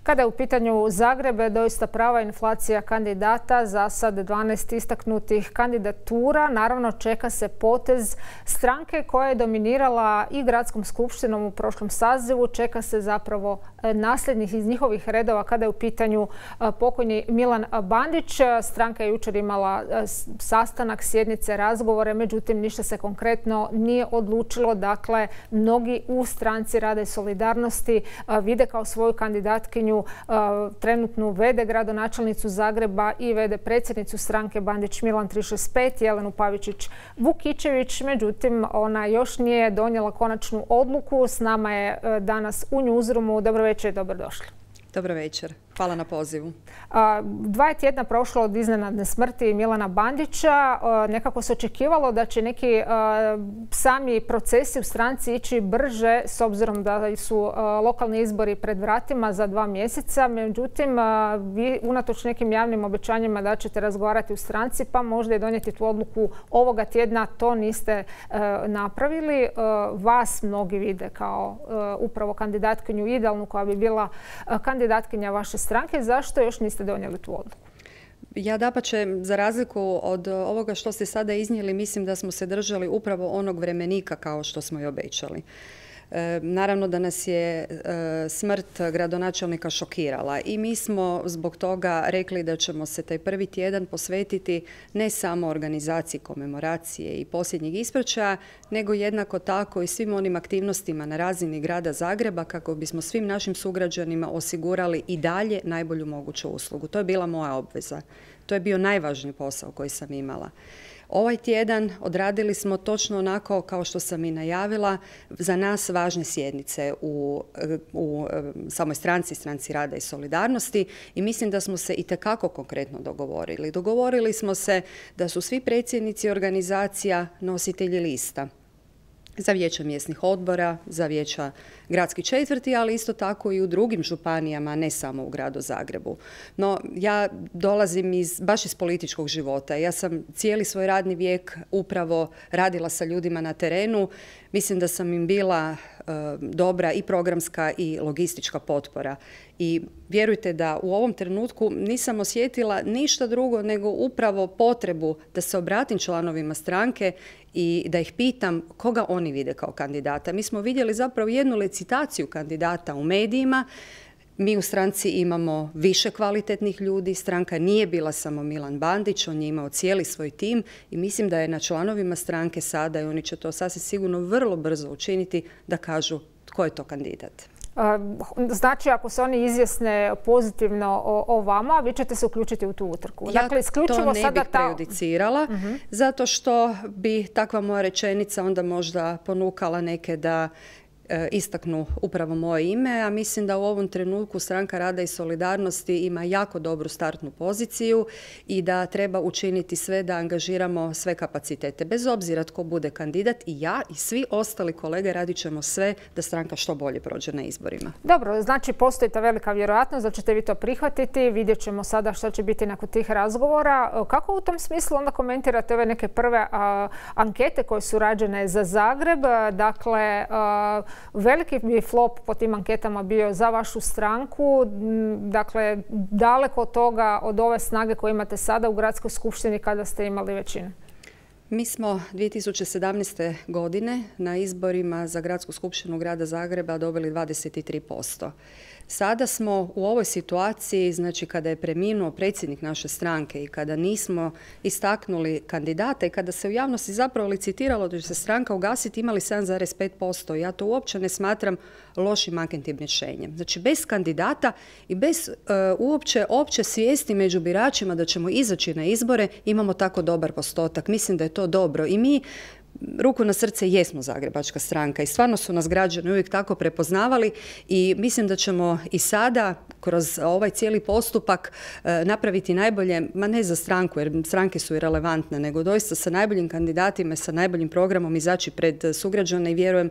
Kada je u pitanju Zagreb, doista prava inflacija kandidata, za sad 12 istaknutih kandidatura. Naravno, čeka se potez stranke koja je dominirala i gradskom skupštinom u prošlom sazivu. Čeka se zapravo nasljednih iz njihovih redova kada je u pitanju pokojni Milan Bandić. Stranka je jučer imala sastanak, sjednice, razgovore, međutim ništa se konkretno nije odlučilo. Dakle, mnogi u Stranci rada i solidarnosti vide kao svoju kandidatkinju trenutnu v.d. gradonačelnicu Zagreba i v.d. predsjednicu stranke Bandić Milan 365 Jelenu Pavičić-Vukičević. Međutim, ona još nije donijela konačnu odluku. S nama je danas u Newsroomu. Dobro večer i dobrodošli. Dobro večer. Hvala na pozivu. 2 tjedna prošlo od iznenadne smrti Milana Bandića. Nekako se očekivalo da će neki sami procesi u stranci ići brže s obzirom da su lokalni izbori pred vratima za 2 mjeseca. Međutim, vi unatoč nekim javnim obećanjima da ćete razgovarati u stranci pa možda i donijeti tu odluku ovoga tjedna, to niste napravili. Vas mnogi vide kao upravo kandidatkinju idealnu koja bi bila kandidatkinja vaše stranke. Zašto još niste donijeli tu odluku? Ja dapače, za razliku od ovoga što ste sada iznijeli, mislim da smo se držali upravo onog vremenika kao što smo i obećali. Naravno da nas je smrt gradonačelnika šokirala i mi smo zbog toga rekli da ćemo se taj prvi tjedan posvetiti ne samo organizaciji komemoracije i posljednjeg ispraćaja, nego jednako tako i svim onim aktivnostima na razini grada Zagreba kako bismo svim našim sugrađanima osigurali i dalje najbolju moguću uslugu. To je bila moja obveza. To je bio najvažniji posao koji sam imala. Ovaj tjedan odradili smo točno onako kao što sam i najavila za nas važne sjednice u samoj stranci rada i solidarnosti i mislim da smo se itekako konkretno dogovorili. Dogovorili smo se da su svi predsjednici organizacija nositelji lista za vijeća mjesnih odbora, za vijeća gradskih četvrti, ali isto tako i u drugim županijama, ne samo u gradu Zagrebu. No, ja dolazim baš iz političkog života. Ja sam cijeli svoj radni vijek upravo radila sa ljudima na terenu. Mislim da sam im bila dobra i programska i logistička potpora. I vjerujte da u ovom trenutku nisam osjetila ništa drugo nego upravo potrebu da se obratim članovima stranke i da ih pitam koga oni vide kao kandidata. Mi smo vidjeli zapravo jednu licitaciju kandidata u medijima. Mi u stranci imamo više kvalitetnih ljudi. Stranka nije bila samo Milan Bandić, on je imao cijeli svoj tim i mislim da je na članovima stranke sada, i oni će to sasvim sigurno vrlo brzo učiniti, da kažu tko je to kandidat. Znači, ako se oni izjasne pozitivno o vama, vi ćete se uključiti u tu utrku. Ja dakle, to ne bih prejudicirala, zato što bi takva moja rečenica onda možda ponukala neke da istaknu upravo moje ime, a mislim da u ovom trenutku Stranka rada i solidarnosti ima jako dobru startnu poziciju i da treba učiniti sve da angažiramo sve kapacitete. Bez obzira tko bude kandidat, i ja i svi ostali kolege radit ćemo sve da stranka što bolje prođe na izborima. Dobro, znači postoji ta velika vjerojatnost da ćete vi to prihvatiti. Vidjet ćemo sada što će biti nakon tih razgovora. Kako u tom smislu onda komentirate ove neke prve ankete koje su rađene za Zagreb? Dakle, veliki bi flop po tim anketama bio za vašu stranku. Dakle, daleko od toga, od ove snage koje imate sada u gradskoj skupštini kada ste imali većinu. Mi smo 2017. godine na izborima za gradsku skupštinu grada Zagreba dobili 23%. Sada smo u ovoj situaciji, znači kada je preminuo predsjednik naše stranke i kada nismo istaknuli kandidata i kada se u javnosti zapravo licitiralo da će se stranka ugasiti, imali 7,5%. Ja to uopće ne smatram lošim anketnim rješenjem. Znači bez kandidata i bez uopće opće svijesti među biračima da ćemo izaći na izbore imamo tako dobar postotak. Mislim da je to dobro i mi ruku na srce jesmo zagrebačka stranka i stvarno su nas građani uvijek tako prepoznavali i mislim da ćemo i sada kroz ovaj cijeli postupak napraviti najbolje, ma ne za stranku jer stranke su irelevantne, nego doista sa najboljim kandidatima, sa najboljim programom izaći pred sugrađane i vjerujem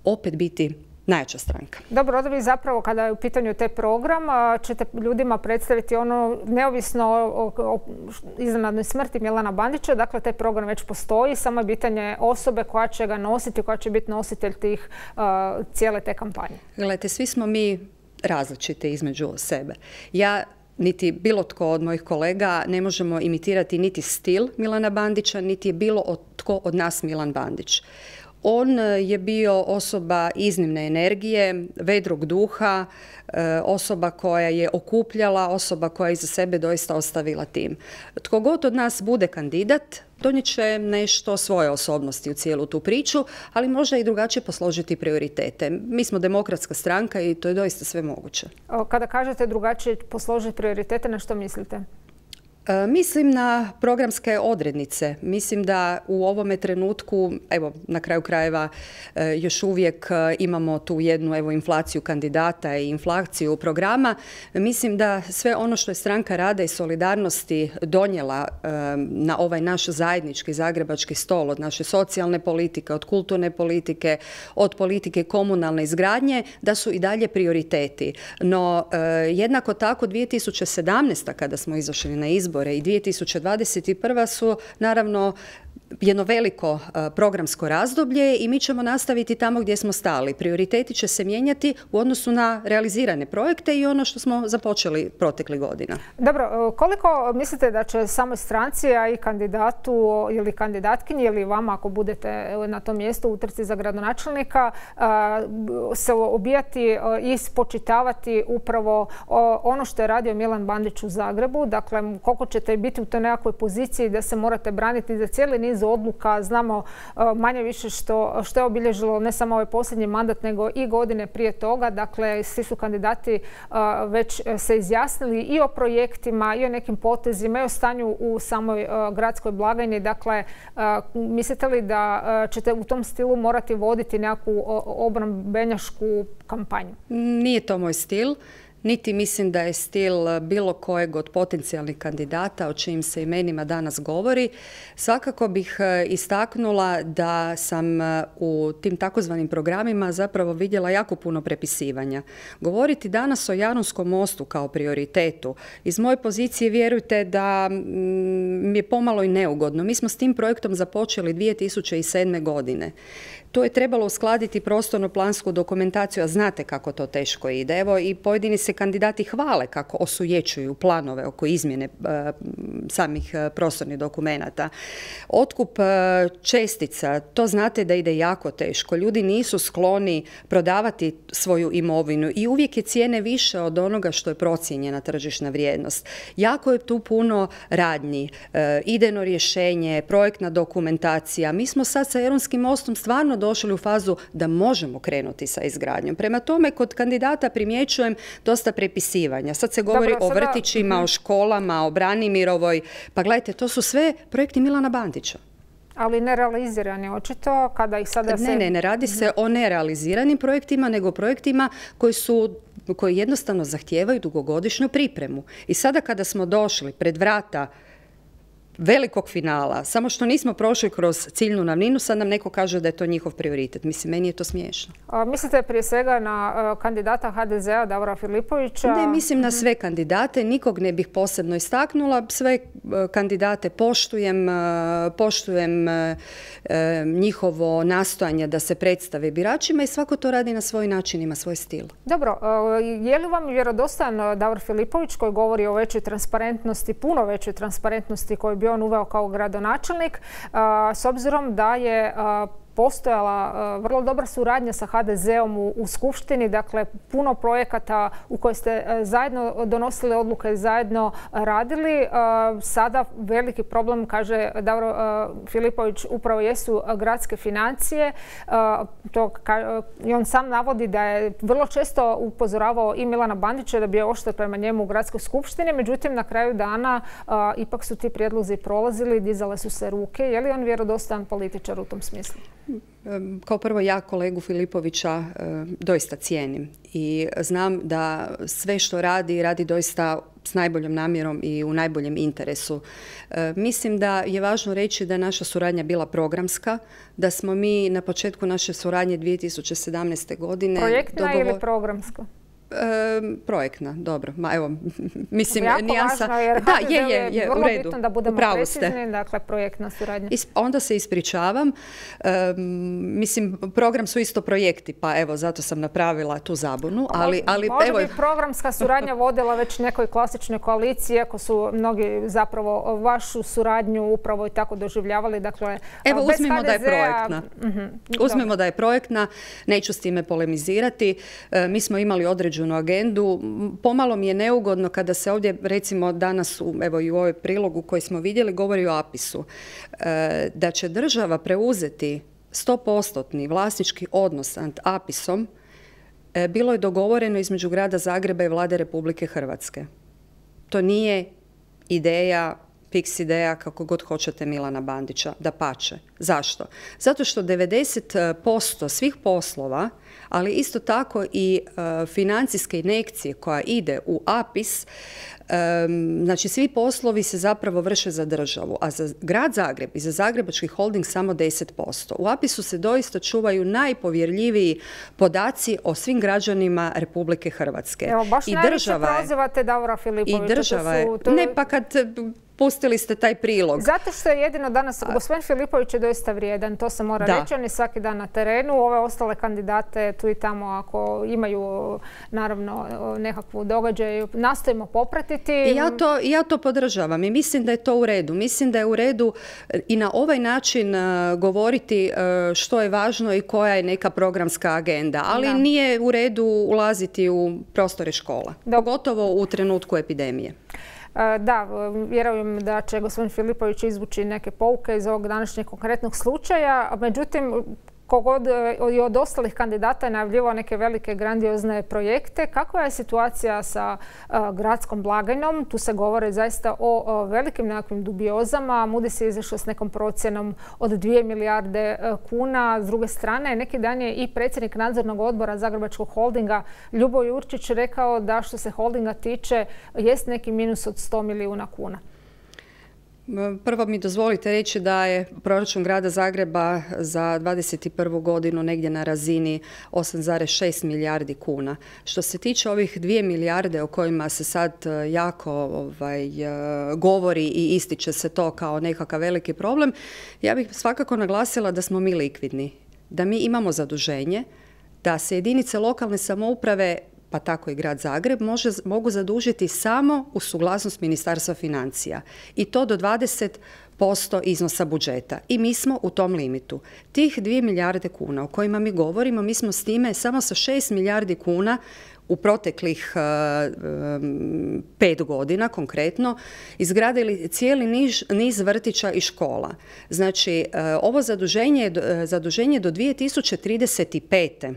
opet biti najjača stranka. Dobro, onda vi zapravo kada je u pitanju taj program ćete ljudima predstaviti ono neovisno o iznenadnoj smrti Milana Bandića. Dakle, taj program već postoji, samo je pitanje osobe koja će ga nositi, koja će biti nositelj cijele te kampanje. Gledajte, svi smo mi različite između sebe. Ja niti bilo tko od mojih kolega ne možemo imitirati niti stil Milana Bandića, niti je bilo tko od nas Milan Bandić. On je bio osoba iznimne energije, vedrog duha, osoba koja je okupljala, osoba koja je iza sebe doista ostavila tim. Tko god od nas bude kandidat, donijet će nešto svoje osobnosti u cijelu tu priču, ali možda i drugačije posložiti prioritete. Mi smo demokratska stranka i to je doista sve moguće. Kada kažete drugačije posložiti prioritete, na što mislite? Mislim na programske odrednice. Mislim da u ovome trenutku, evo na kraju krajeva još uvijek imamo tu jednu inflaciju kandidata i inflaciju programa. Mislim da sve ono što je Stranka rada i solidarnosti donijela na ovaj naš zajednički zagrebački stol, od naše socijalne politike, od kulturne politike, od politike komunalne izgradnje, da su i dalje prioriteti. No jednako tako 2017. kada smo izašli na izbore i 2021. su naravno jedno veliko programsko razdoblje i mi ćemo nastaviti tamo gdje smo stali. Prioriteti će se mijenjati u odnosu na realizirane projekte i ono što smo započeli proteklih godina. Dobro, koliko mislite da će samoj stranci, a i kandidatu ili kandidatkinji ili vama ako budete na tom mjestu u trci za gradonačelnika se obijati i spočitavati upravo ono što je radio Milan Bandić u Zagrebu? Dakle, koliko ćete biti u toj nekakvoj poziciji da se morate braniti za cijeli niz odluka, znamo manje više što je obilježilo ne samo ovaj posljednji mandat, nego i godine prije toga. Dakle, svi su kandidati već se izjasnili i o projektima, i o nekim potezima, i o stanju u samoj gradskoj blagajni. Dakle, mislite li da ćete u tom stilu morati voditi nekakvu obrambenjačku kampanju? Nije to moj stil. Niti mislim da je stil bilo kojeg od potencijalnih kandidata o čijim se imenima danas govori. Svakako bih istaknula da sam u tim takozvanim programima zapravo vidjela jako puno prepisivanja. Govoriti danas o Jarunskom mostu kao prioritetu, iz moje pozicije vjerujte da mi je pomalo i neugodno. Mi smo s tim projektom započeli 2007. godine. To je trebalo uskladiti prostorno-plansku dokumentaciju, a znate kako to teško ide. Evo i pojedini se kandidati hvale kako osujećuju planove oko izmjene samih prostornih dokumenata. Otkup čestica, to znate da ide jako teško. Ljudi nisu skloni prodavati svoju imovinu i uvijek je cijene više od onoga što je procijenjena tržišna vrijednost. Jako je tu puno radnji, idejno rješenje, projektna dokumentacija. Mi smo sad sa Jarunskim mostom stvarno došli u fazu da možemo krenuti sa izgradnjom. Prema tome, kod kandidata primjećujem dosta prepisivanja. Sad se govori o vrtićima, o školama, o Branimirovoj. Pa gledajte, to su sve projekti Milana Bandića. Ali nerealizirani očito kada ih sada se... Ne radi se o nerealiziranim projektima, nego projektima koji jednostavno zahtijevaju dugogodišnju pripremu. I sada kada smo došli pred vrata velikog finala, samo što nismo prošli kroz ciljnu ravninu, sad nam neko kaže da je to njihov prioritet. Mislim, meni je to smiješno. Mislite prije svega na kandidata HDZ-a Davora Filipovića? Ne, mislim na sve kandidate, nikog ne bih posebno istaknula. Sve kandidate poštujem njihovo nastojanje da se predstave biračima i svako to radi na svoj način, ima svoj stil. Dobro, je li vam vjerodostojan Davor Filipović koji govori o većoj transparentnosti, puno većoj transparentnosti koju bi on uveo kao gradonačelnik, s obzirom da je postojala vrlo dobra suradnja sa HDZ-om u Skupštini, dakle puno projekata u koje ste zajedno donosili odluke, zajedno radili. Sada veliki problem, kaže Davor Filipović, upravo jesu gradske financije. I on sam navodi da je vrlo često upozoravao i Milana Bandića da bi je oštar prema njemu u gradskoj skupštini, međutim na kraju dana ipak su ti prijedlozi prolazili, dizale su se ruke. Je li on vjerodostojan političar u tom smislu? Kao prvo, ja kolegu Filipovića doista cijenim i znam da sve što radi doista s najboljom namjerom i u najboljem interesu. Mislim da je važno reći da je naša suradnja bila programska, da smo mi na početku naše suradnje 2017. godine... Projektna ili programska? projektna, dobro. Evo, mislim, jako nijansa... važno, jer da, je, vrlo u redu. bitno da budemo precizni, dakle, projektna suradnja. Onda se ispričavam. Mislim, program su isto projekti, pa evo, zato sam napravila tu zabunu. Možda bi programska suradnja vodila već nekoj klasičnoj koaliciji, ako su mnogi zapravo vašu suradnju upravo i tako doživljavali. Dakle, evo, uzmimo da je projektna. Uzmimo da je projektna, neću s time polemizirati. Mi smo imali određenu agendu. Pomalo mi je neugodno kada se ovdje, recimo danas, evo i u ovoj prilogu koji smo vidjeli, govori o APIS-u. Da će država preuzeti 100% vlasnički odnos nad APIS-om bilo je dogovoreno između Grada Zagreba i Vlade Republike Hrvatske. To nije ideja, fiks ideja, kako god hoćete, Milana Bandića, dapače. Zašto? Zato što 90% svih poslova, ali isto tako i financijske injekcije koja ide u APIS, znači svi poslovi se zapravo vrše za državu, a za Grad Zagreb i za Zagrebački holding samo 10%. U APIS-u se doista čuvaju najpovjerljiviji podaci o svim građanima Republike Hrvatske. Evo, baš najviše prozivate Davora Filipovića. I država je. Ne, pa kad pustili ste taj prilog. Zato što je jedino danas, gospodin Filipović je doista vrijedan, to se mora reći, on je svaki dan na terenu, ove ostale kandidate tu i tamo ako imaju naravno nekakvu događaj, nastojimo popratiti. Ja to podržavam i mislim da je to u redu. Mislim da je u redu i na ovaj način govoriti što je važno i koja je neka programska agenda, ali nije u redu ulaziti u prostore škola, pogotovo u trenutku epidemije. Da, vjerujem da će gospodin Filipović izvući neke pouke iz ovog današnjeg konkretnog slučaja. Međutim, kogod i od ostalih kandidata je najavljivao neke velike grandiozne projekte. Kakva je situacija sa gradskom blagajnom? Tu se govore zaista o velikim nekakvim dubiozama. Moody's je izašao s nekom procjenom od 2 milijarde kuna. S druge strane, neki dan je i predsjednik nadzornog odbora Zagrebačkog holdinga Ljubo Jurčić rekao da što se holdinga tiče jest neki minus od 100 milijuna kuna. Prvo mi dozvolite reći da je proračun Grada Zagreba za 2021. godinu negdje na razini 8,6 milijardi kuna. Što se tiče ovih 2 milijarde o kojima se sad jako govori i ističe se to kao nekakav veliki problem, ja bih svakako naglasila da smo mi likvidni, da mi imamo zaduženje, da se jedinice lokalne samouprave, pa tako i Grad Zagreb, mogu zadužiti samo uz suglasnost Ministarstva financija i to do 20% iznosa budžeta. I mi smo u tom limitu. Tih 2 milijarde kuna o kojima mi govorimo, mi smo s time samo sa 6 milijardi kuna u proteklih 5 godina konkretno izgradili cijeli niz vrtića i škola. Znači, ovo zaduženje do 2035.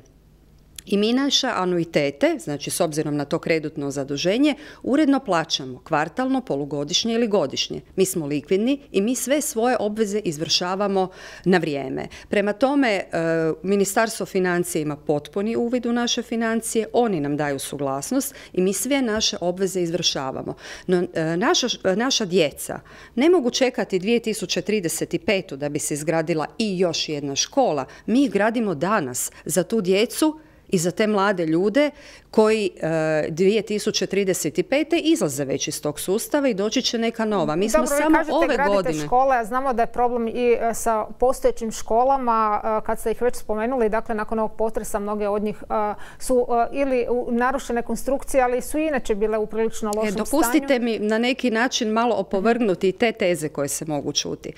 I mi naše anuitete, znači s obzirom na to kreditno zaduženje, uredno plaćamo kvartalno, polugodišnje ili godišnje. Mi smo likvidni i mi sve svoje obveze izvršavamo na vrijeme. Prema tome, Ministarstvo financija ima potpuni uvid u naše financije, oni nam daju suglasnost i mi sve naše obveze izvršavamo. No, naša djeca ne mogu čekati 2035. da bi se izgradila i još jedna škola. Mi ih gradimo danas za tu djecu i za te mlade ljude koji 2035. izlaze već iz tog sustava i doći će neka nova. Mi smo samo ove godine. Škole, a znamo da je problem i sa postojećim školama, kad ste ih već spomenuli, dakle nakon ovog potresa mnoge od njih su ili narušene konstrukcije, ali su inače bile u prilično lošem stanju. Dopustite mi na neki način malo opovrgnuti te teze koje se mogu čuti.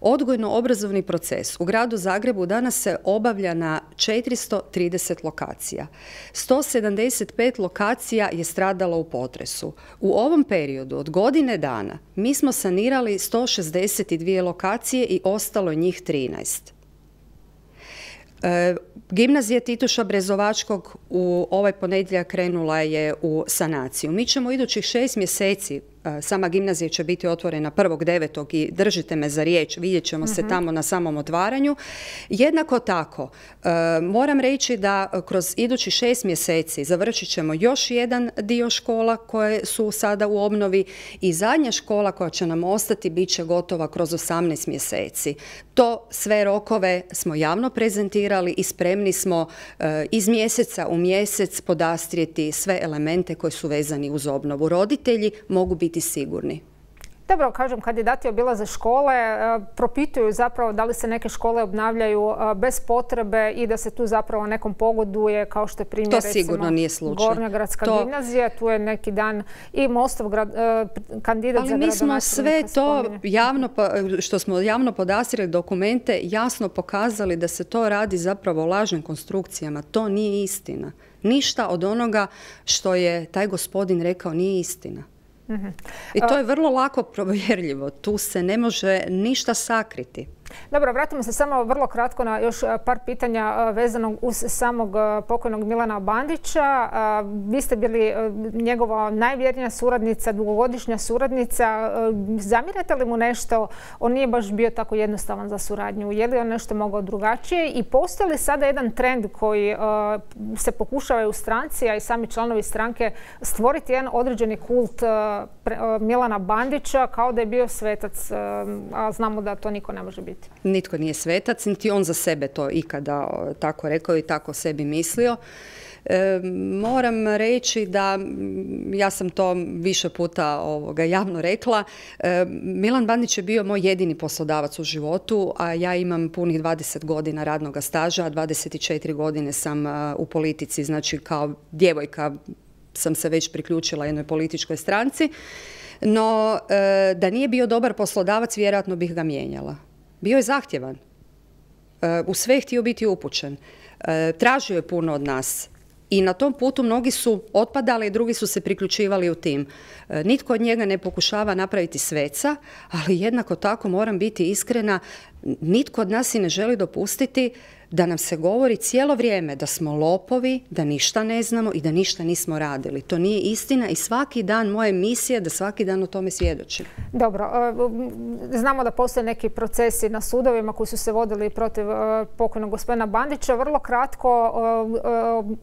Odgojno-obrazovni proces u Gradu Zagrebu danas se obavlja na 430 lokacija. 175 lokacija je stradalo u potresu. U ovom periodu od godine dana mi smo sanirali 162 lokacije i ostalo njih 13. Gimnazija Tituša Brezovačkog u ovaj ponedjeljak krenula je u sanaciju. Mi ćemo idućih 6 mjeseci Sama gimnazija će biti otvorena 1.9. i držite me za riječ, vidjet ćemo se tamo na samom otvaranju. Jednako tako, moram reći da kroz idući 6 mjeseci završit ćemo još jedan dio škola koje su sada u obnovi i zadnja škola koja će nam ostati bit će gotova kroz 18 mjeseci. To sve rokove smo javno prezentirali i spremni smo iz mjeseca u mjesec podastrijeti sve elemente koji su vezani uz obnovu. Roditelji mogu biti sigurni. Dobro, kažem, kandidati obilaze škole, propituju zapravo da li se neke škole obnavljaju bez potrebe i da se tu zapravo nekom pogoduje, kao što je primjer to sigurno nije slučaj. Gornja gradska gimnazija, tu je neki dan i Mostov kandidat za gradonačelnika. Ali mi smo sve to što smo javno podastrili dokumente jasno pokazali da se to radi zapravo o lažnim konstrukcijama. To nije istina. Ništa od onoga što je taj gospodin rekao nije istina. I to je vrlo lako provjerljivo. Tu se ne može ništa sakriti. Dobro, vratimo se samo vrlo kratko na još par pitanja vezanog uz samog pokojnog Milana Bandića. Vi ste bili njegova najvjernija suradnica, dugogodišnja suradnica. Zamjerate li mu nešto? On nije baš bio tako jednostavan za suradnju. Je li on nešto mogao drugačije? I postoji li sada jedan trend koji se pokušava u stranci, a i sami članovi stranke, stvoriti jedan određeni kult Milana Bandića kao da je bio svetac, a znamo da to niko ne može biti? Nitko nije svetac, niti on za sebe to ikada tako rekao i tako sebi mislio. Moram reći da, ja sam to više puta javno rekla, Milan Bandić je bio moj jedini poslodavac u životu, a ja imam punih 20 godina radnog staža, a 24 godine sam u politici, znači kao djevojka sam se već priključila jednoj političkoj stranci, no da nije bio dobar poslodavac, vjerojatno bih ga mijenjala. Bio je zahtjevan. U sve je htio biti upućen. Tražio je puno od nas. I na tom putu mnogi su otpadali, drugi su se priključivali u tim. Nitko od njega ne pokušava napraviti sveca, ali jednako tako moram biti iskrena, nitko od nas i ne želi dopustiti da nam se govori cijelo vrijeme da smo lopovi, da ništa ne znamo i da ništa nismo radili. To nije istina i svaki dan moja misija da svaki dan o tome svjedočim. Dobro, znamo da postoje neki procesi na sudovima koji su se vodili protiv pokojnog gospodina Bandića. Vrlo kratko,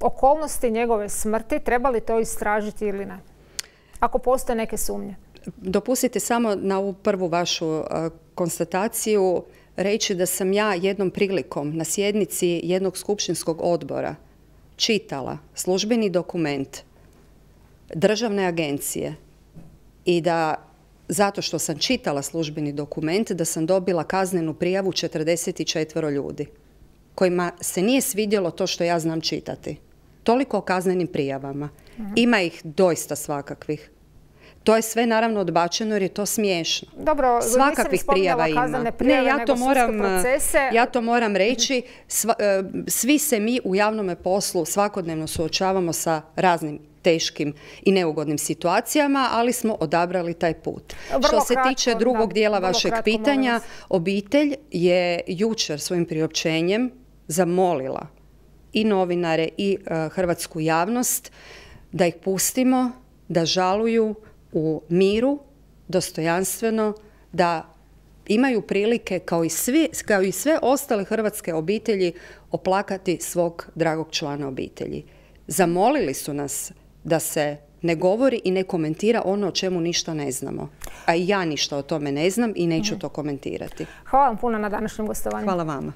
okolnosti njegove smrti, treba li to istražiti ili ne? Ako postoje neke sumnje. Dopustite samo na ovu prvu vašu konstataciju reći da sam ja jednom prilikom na sjednici jednog skupštinskog odbora čitala službeni dokument državne agencije i da zato što sam čitala službeni dokument da sam dobila kaznenu prijavu 44 ljudi kojima se nije svidjelo to što ja znam čitati. Toliko o kaznenim prijavama. Ima ih doista svakakvih. To je sve naravno odbačeno jer je to smiješno. Dobro, svakakvih prijava ima. Ne, ja to moram reći. Svi se mi u javnom poslu svakodnevno suočavamo sa raznim teškim i neugodnim situacijama, ali smo odabrali taj put. Što se tiče drugog dijela vašeg pitanja, obitelj je jučer svojim priopćenjem zamolila i novinare i hrvatsku javnost da ih pustimo, da žaluju u miru, dostojanstveno, da imaju prilike kao i sve ostale hrvatske obitelji oplakati svog dragog člana obitelji. Zamolili su nas da se ne govori i ne komentira ono o čemu ništa ne znamo. A i ja ništa o tome ne znam i neću to komentirati. Hvala vam puno na današnjem gostovanju. Hvala vama.